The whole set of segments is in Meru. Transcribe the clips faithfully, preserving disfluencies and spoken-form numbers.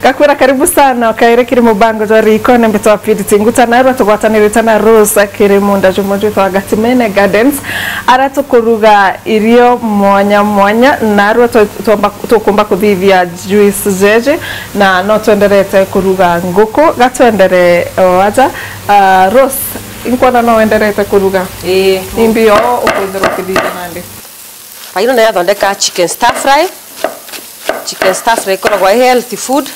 Ngakwira karibu sana, ukaire kiri mubango jwa Riiko ni Mbitwa Purity Nguta, narua tugwatanirite na Rose kiri munda jumwe jwitwa Gatimene Gardens, ara tukuruga irio mwanya mwanya, narua tu-, tuomba-, tukumba kuthithia juice jeje, na no twenderete kuruga nguku. Gatwendere o aja. Ah, Rose, inkwona no wenderete kuruga. Ii. Imbi o ukwithirwa ukithithia nandi? Paino nayo athondeka chicken stir fry. Chicken stir fry ikoragwa i healthy food.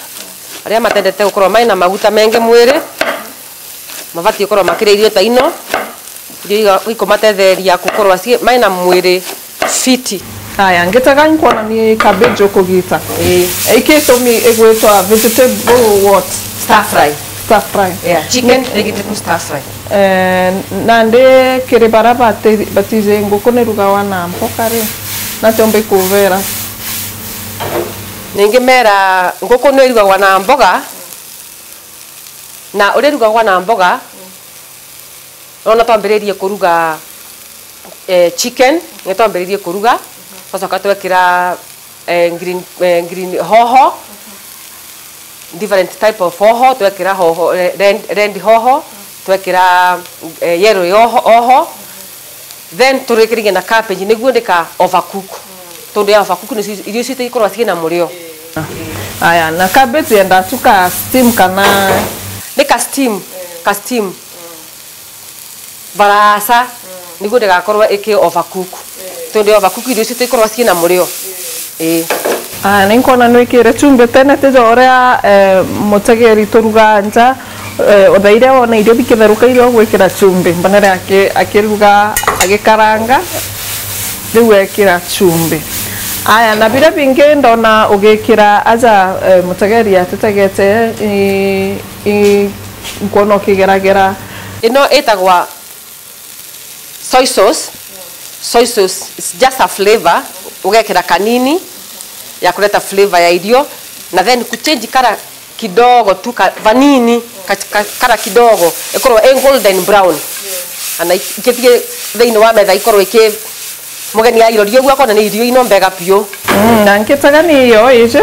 Aria matendete gukorwa mai na maguta mengi mwiri, mabati gukorwa makiria irio ta ino, irio iga-, ikumatetheria gukorwa ci-, mai na mwiri fiti. Aya, ngitega nkwona ni cabbage ukugita. Ii. Iki itumi igwitwa vegetable what? Stir fry. Stir fry. Yeah, chicken vegetable stir fry. Eh, nandi kiri bara bati-, batiji nguku ni rugawa na mboga ri, natia umbi kubera? Ningi mera nguku ni irugagwa na mboga, na uria irugagwa na mboga, nona twambiririe kuruga, eh, chicken, ni twambiririe kuruga, twacoka twekira eh, green, eh, green hoho, different type of hoho, twekira hoho, eh, red, red hoho, twekira, eh, yellow hoho, hoho, then turikiririe na cabbage, niguo ndika overcook. Tondu ya overcook ni irio citũ ikorwa ciina murio. Aya, na cabbage yenda tu ka steam kana? Ni ka steam, ka steam. Baraca, niguo ndigakorwo iki overcook. Tondu ya overcook irio citũ ikorwa ciina murio. Ii. Ah, ni nkona nwikire chumbi tene, tija uria, eh, mutegeri turugaa nja, eh, uthaire wona irio bikitheruka irio ugwikira chumbi. Mbonere aki-, akiruga, agikaranga, riu ekira chumbi. Aya, na biria bingi ndona ugikira aja, eh, mutegeri atitegete, i, i, nkwona ukigeragera. Ino itagwa soy sauce. Soy sauce is just a flavor, ugekira kanini ya kureta flavor ya irio, na then kuchange kara kidogo tu ka, vanini, ka, ka, kara kidogo, ikorwo i golden brown. Ana ikithie thiini wa metha ikorwo iki, mugeni airoria uguo akona ni irio ino mbega piu. Mm, na nkitaga ni iyo iji?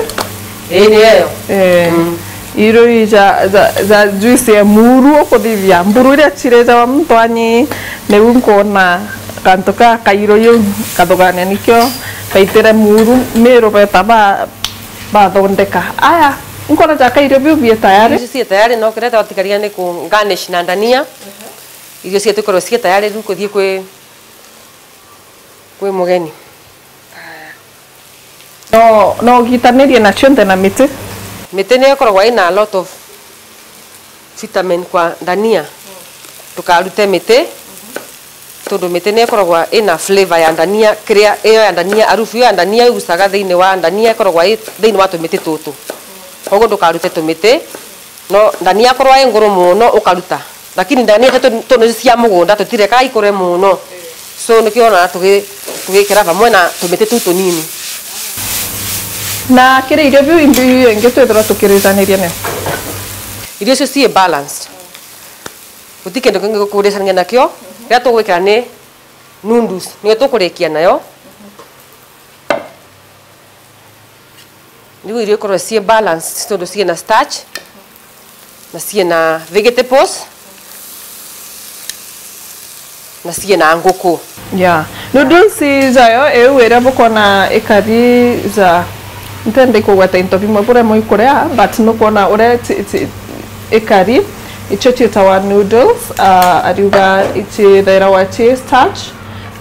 Ii, ni iyo. Eh, mm. Irio ii ja, ja, ja juice ya muru ukuthithia. Mburu iria cirejawa muntu anyi, niu nkwona kantu ka kairo iu kathugania nikio kaitire muru miru beta ba, bathondeka. Aya, nkwona ja kairio biu bie tayari. Icio cie tayari, no kireta watigaria ni ku garnish na ndania. Irio cietu ikorwo cie tayari riu kuthii kwi kwi mugeni. No, no ugitanirie na cionthe na miti? Miti niyo ikoragwa ina a lot of vitamin kwa ndania. Tukarute miti, tondu miti niyo ikoragwa ina flavor ya ndania, kiria, iyo ya ndania, harufu iyo ya ndania igucaga thiini wa ndania ikoragwa i thiini wa tumiti tutu. Koguo ndukarute tumiti. No ndania akorwa i nguru muno ukaruta. Lakini ndania tu, tu ni cia mugunda, tutirekaga ikure muno. So nikio ona tugi-, tugikira vamwe na tumiti tuu tunini. Na kiri irio biu imbi ingi twithirwa tukiritaniria nio? Irio icio cii balanced. Guti kindu kingi gukuricania nakio. Riria tugwikira ni noodles, niyo tukurikia nayo. Riu irio ikorwe cii balanced, tondu cii na starch, na cii na vegetables, na cii na nguku. Yeah. Noodles jayo iu iria bukona ikari ja, ntende kugweta into bimwe buria muikuria, but nukona uria ti, ti, ikari, icio ciitawa noodles, ah, ariuga icithairagwa ci starch,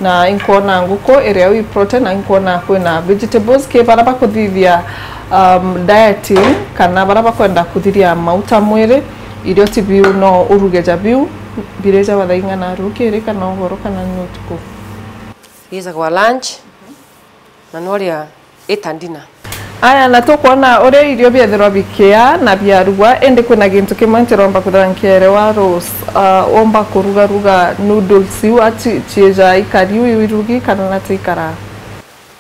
na inkona nguku iria wi protein, na inkona kwina vegetables. Ki bara bakuthithia, um, dieting, kana bara bakwenda kuthiria mauta mwiri, irio ti biu no uruge ja biu, birejawa thaa ing'ana rukiri, kana ugoro, kana ni utuku? Ijagwa lunch, na noria ita ndina. Aya, na tukwona uria irio biethirwa bikia na biarugwa, indi kwina gintu kimwe ntiromba kwithirwa nkierewa, Rose. Ah, womba kurugaruga noodles iu ati ciija ikari u irugi kana na tiikara?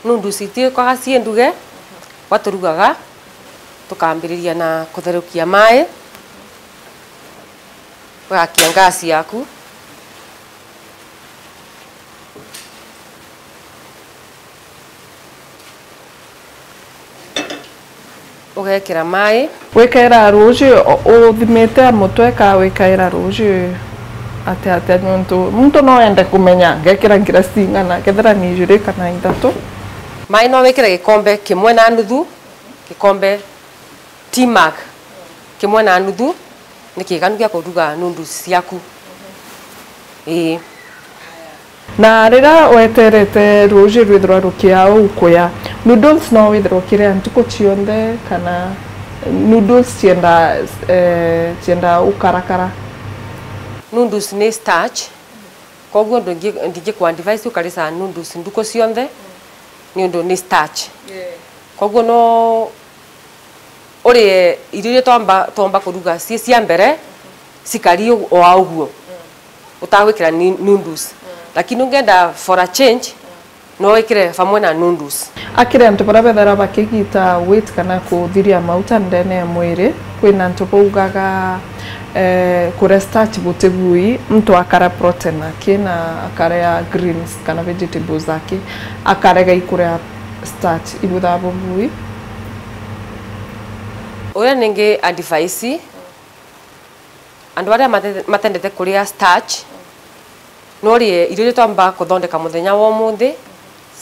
Noodles itiikwaga cii nduge, gwaturugaga, tukambiriria na kutherukia mai, ugakia gas yaku. Ugekira mai. Wikaira ruuji, u-, uthimite a mutwe ka wikaira ruuji atia atia? Niuntu muntu no ende kumenya, ngekira ngirasi ing'ana, kethira ni ijiri kana ithatu. Mai no wikire gikombe kimwe na nuthu, gikombe tea mug kimwe na nuthu, ni kiganu gia kuruga noodles ciaku. Ii. Na riria weterete ruuji rwithirwa rukia uu kuya, noodles no withirwa ukiria ntuku cionthe, kana noodles cienda, eh, cienda ukarakara? Noodles ni starch, koguo ndingi-, ndingiku advise ukarica noodles ntuku cionthe, niundu ni starch. Koguo no urie irio iria twamba, twomba kuruga cii cia mbere, cikari u-, o a uguo, utagwikira ni-, noodles. Lakini ungenda for a change, no wikire vamwe na noodles. Akiri antu baria bethera bakigita weight kana kuthiria mauta ndene ya mwiri, kwina antu baugaga, eh, kuria starch butigui, muntu akara protein aki na akaria greens kana vegetables aki, akarega ikuria starch ibuthaa bubui. Uria ningi advice, andu baria mate-, matendete kuria starch, no urie irio iria twamba kuthondeka muthenya wa umunthi,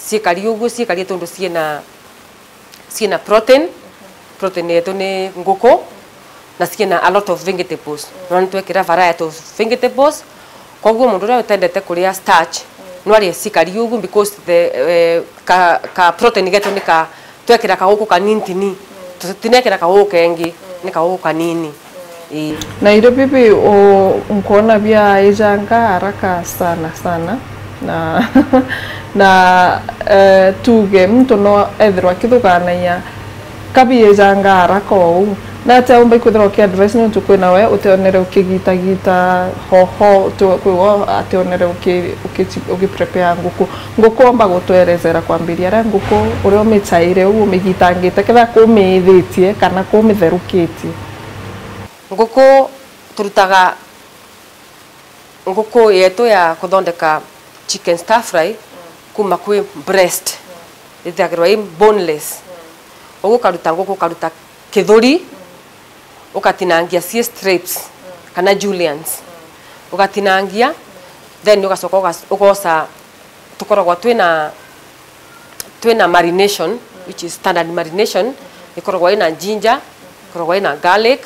ciikari uguo, ciikari tondu ciina, ciina protein. Protein yetu ni nguku, na ciina a lot of vegetables. No nitwekira variety of vegetables. Koguo muntu uria utendete kuria starch, no arie cikari uguo because the, eh, ka, ka protein getu ni ka, twekira kaguku kanini tini. Tu-, tinekira kaguku kengi, ni kaguku kanini. Ii. Na irio bibi u-, nkwona biaijanga haraka sana sana. Na, na, eh, tuge muntu no ethirwa akithuganagia kabiijanga haraka uu. Na atia umba ikwithirwa uki advise niuntu kwina we utionere ukigitagita hoho, uti-, kwi we ationere uki-, uki-, ukiprepare nguku. Nguku omba gutwerezera kwambiria aria nguku uria umichaire uu umigitangite, kethira kumiithitie kana kumitherukitie? Nguku turutaga nguku yetu ya kuthondeka chicken stir fry kuma kwi breast, ithagirwa i boneless. Uguo ukaruta nguku, ukaruta kithuri, ukatinangia cie strips kana juliennes, ugatinangia, then ugacoka ugas-, ugoca, tukoragwa twina, twina marination, which is standard marination, ikoragwa ina ginger, ikoragwa ina garlic,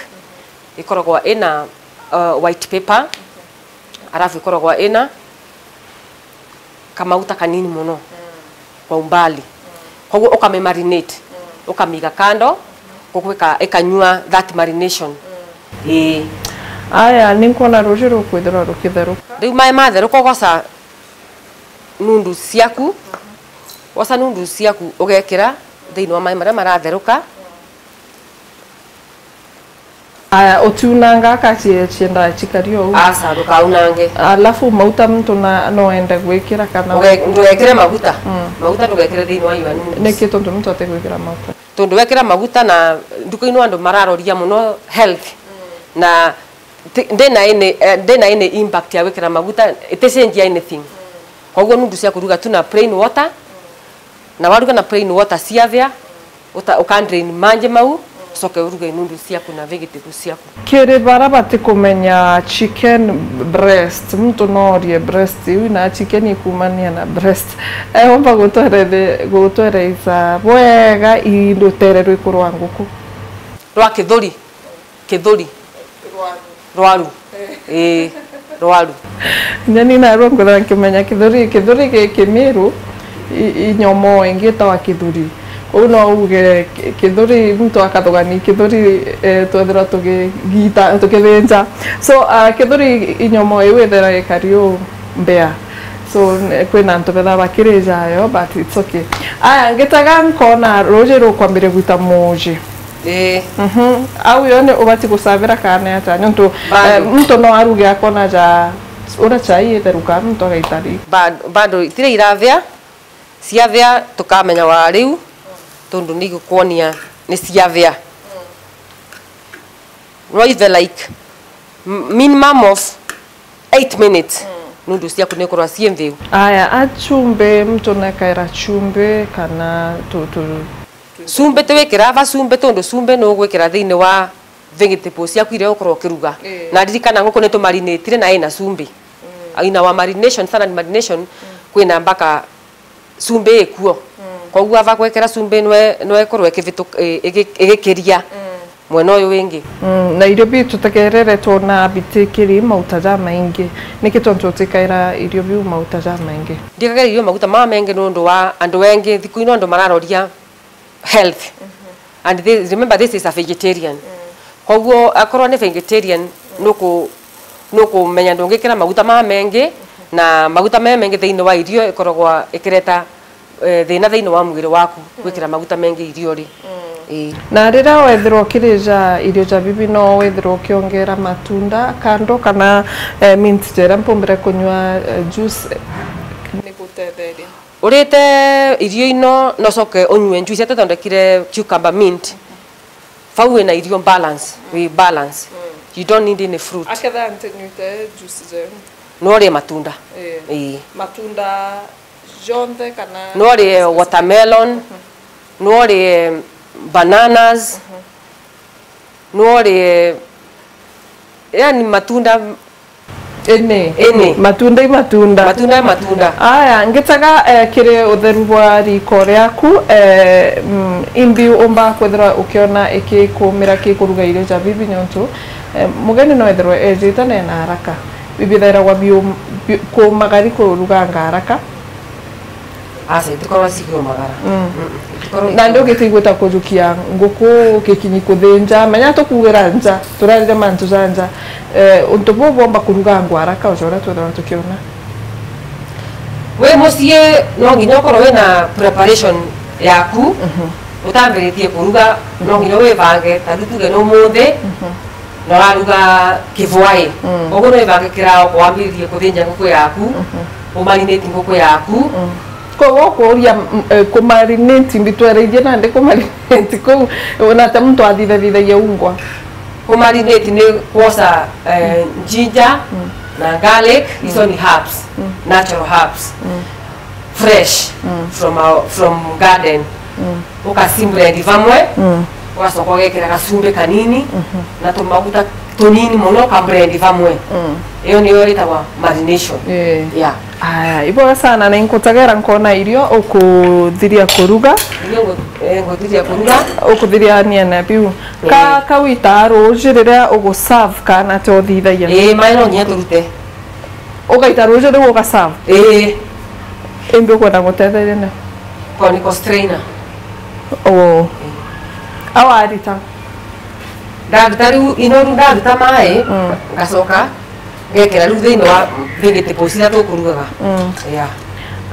ikoragwa ina, uh, white pepper, arafu ikoragwa ina kamauta kanini mono kwa umbali. Koguo ukamimarinate, ukamiga kando, nguku ika-, ikanyua that marination. Ii. Aya, ninkwona ruuji rukwithirwa rukitheruka. Riu mai matheruka, ugoca noodles ciaku, woca noodles ciaku ugekira thiini wa mai maria maratheruka. Aya, utiunanga ka cie-, ciendaa cikari ou? Aca, ndukaunange. Alafu mauta muntu na, no ende gwikira kana? Uge-, ndugekire maguta. Mm. Maguta ndugekire thiini wa your noodles. Niki tondu muntu atigwikira mauta? Tondu wekira maguta na nduka-ini andu mararoria mono health. Mm. Na ti-, ndina any, eh, ndina any impact ya gwikira maguta, iticenjia anything. Mm. Koguo noodles cia kuruga tu na plain water. Mm. Na waruga na plain water ciathia, uta-, uka drain manji mau, ucoke uruge noodles ciaku na vegetables ciaku. Kiri bara batikumenya chicken breast, muntu no orie breast iu na chicken ikumania na breast. Eomba gutwerethe-, gutwereitha bwega i rutere rwiku rwa nguku? Rwa kithuri. Kithuri. Rwaru. Rwaru. Eh. Ii, rwaru. Nyani narua nkwithira nkimenya kithuri, kithuri gi Kimiru, i-, i nyomoo ingi itawa kithuri. Kou no uge ki-, kithuri, muntu akathugani kithuri, eh, twethirwa tugigita, tukithinja. So, ah, kithuri i nyomoo iu ithira ikari u mbea. So, n-, kwina antu betha bakirija yo, but it's okay. Aya, ngitaga nkona ruuji rukwambiria gwita muuji. Ii. Mhm. Au yo ni ubati gucabira kana atia? Nontu, bado, eh, muntu no aruge akona ja uria chai itheruka, muntu agaita ri. Bado, bado, itire irathia, ciathia tukamenya wa riu, tondu ni igukwonia ni ciathia. No ithe like m-, minimum of eight minutes, mm, noodles ciaku ni ikorwa cii nthiu. Aya, a chumbi, muntu nekaira chumbi kana tu, tu, Cumbĩ tiwikira va cumbĩ, tondu cumbĩ nugwikira thiini wa vegetables ciaku iria ukorwo ukiruga. Ii. Na ririkana nguku nitumarinatire na ina cumbĩ. Mm. In our marination, standard marination, mm, kwina mpaka cumbĩ ikuo. Mm. Koguo ava gwekira cumbĩ nwe, nwe ikorwo ikivitu-, i-, igi-, igikiria, mm, mwena uyu wingi. Mm, na irio biu tutegerere twona bitikiri mauta jamaingi. Niki tontu utikaira irio biu mauta jamaingi? Ndikagira irio maguta mamaingi nondu wa andu engi thiku ino andu mararoria health. Mhm. And this, remember, this is a vegetarian. Mm. Koguo akorwo ni vegetarian, nuku-, nukumenya ndungikira maguta mamaingi, na maguta mamaingi thiini wa irio ikoragwa ikireta, eh, thina thiini wa mwiri waku, mm, gwikira maguta mengi iriori. Mm. Ii. Na riria wethirwa ukirija irio ja bibi, no wethirwa ukiongera matunda kando kana, eh, mint jeria mpumbire kunywa, eh, juice, eh, ni gutetheria? Urite irio ino, nocoke unyue juice, atethondekire cucumber mint. Vau wina irio balance, wi balance. Mm. You don't need any fruit. Aketha ntinyuite juice jenu. No urie matunda. Ii. Ii. Matunda jonthe kana? No urie watermelon, mhm, no urie bananas, mhm, no urie, yani matunda. Ini. Ini. Matunda i matunda. Matunda i matunda. Aya, ngitaga, eh, kiri utheru bwa riko riaku, eh, mm, imbi umba kwithirwa ukiona ikikumira kikuruga irio ja bibi nontu, eh, mugeni no ethirwe ejite na ena haraka. Bibi thairagwa biu-, biu-, kuumagari kuruganga haraka. Aca, itikorwa cikiumagara. Mm. Mm, itikorwa. Na ndi ugitiigwita kujukia nguku gikinyi kuthinja, menya tukuugira nja, turarire mantu ja nja. Eh, untu buu bwomba kurugangwa haraka, o ja uria twethagwa tukiona. Wi mucii, no nginya ukorwo wina preparation yaku, mhm, utambiritie kuruga, no nginya wibange, ta riu tuge ni umuthi, mhm, na uraruga kivwai. Mm. Koguo no wibangikira kwambiririe kuthinja nguku yaku, mhm, umarinate nguku yaku. Mm. Koguo ukuuria, mm, eh, kumarinate, mbitwereithie nandi kumarinate kuu, ona ta muntu athithathithagia ungwa. Kumarinate ni kwosa, eh, mm, ginger, mm, na garlic, mm, icio ni herbs, mm, natural herbs. Mm. Fresh, mm, from our, from garden. Mm. Ukaciblend vamwe, mm, ugacoka ugekira gacumbi kanini, mhm, na tumaguta tunini muno, ukablend vamwe. Mm. Iyo niyo itagwa marination. Ii. Yeah. Aya, ibwega sana, na inkutagera nkona irio ukuthiria kuruga. Irio ngu-, eh, nguthiria kuruga. Ukuthiria ania na biu. Ii. Ka, ka wita ruuji riria uguserve kana te uthithagia? Ii, mai no nginya turute. Ugaita ruuji riu ugaserve? Ii. Imbi ukwenda ngutetherie na? Ko ni ko strainer. Oo. Ii. Awarita? Ndaruta riu, ino riu ndaruta mai, mm, ngacoka ngekira riu thiini wa vegetables iria tukurugaga. Mm. Yeah.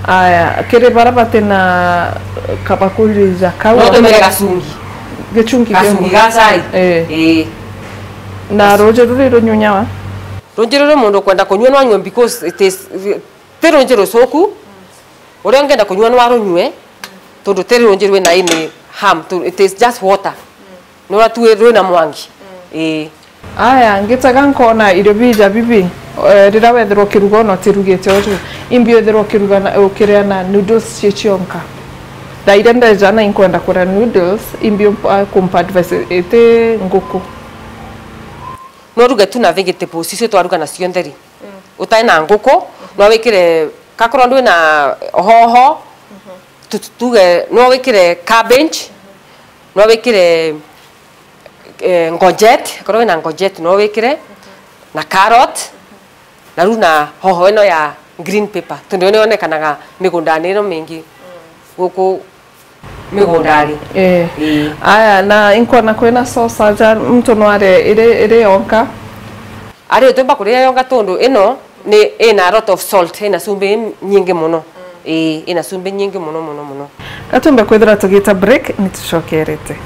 Aya, kiri baria bati na kabakuri ja kau. No tumire gacungi. Gichungi kia gacungi ga chai. Ii. Ii. Na ruuji ruri runyunyawa? Ruuji ruri mundu ukwenda kunyua no anyue because it is, ti ruuji rucuku. Uria ungenda kunyua no arunyue, tondu ti ruuji rwina any harm, to-, it is just water. No uria tu rwina mwangi. Ii. Aya, ngitaga nkona irio bija bibi, eh, riria wethirwa ukiruga ona utirugite uju, imbi wethirwa ukiruga na, ukiria na noodles cie cionka. Thaa iria ndeja na inkwenda kuria noodles, imbi umpa, kumpa advice iti nguku. No uruge tu na vegetables icio twaruga nacio ntheri. Mm. Utai na nguku, no wikire, kakorwo ndwi na hoho, mhm, tu-, tu-, tuge, no wikire cabbage, no wikire, eh, courgette, korwo wina courgette no wikire, mhm, na carrot, mhm, na riu na hoho ino ya green pepper, tondu ni yonekanaga migundani ino mingi, mm, guku migundani. Ii. Ii. Aya, na inkona kwina sauce aja, muntu no arie iri, iri yonka? Ari utumba kuria yonka tondu ino ni ina a lot of salt, ina cumbi nyingi muno. Mm. Ii, ina cumbi nyingi muno, muno, muno. Gatumbe kwithira tugita break, ni tucokerete.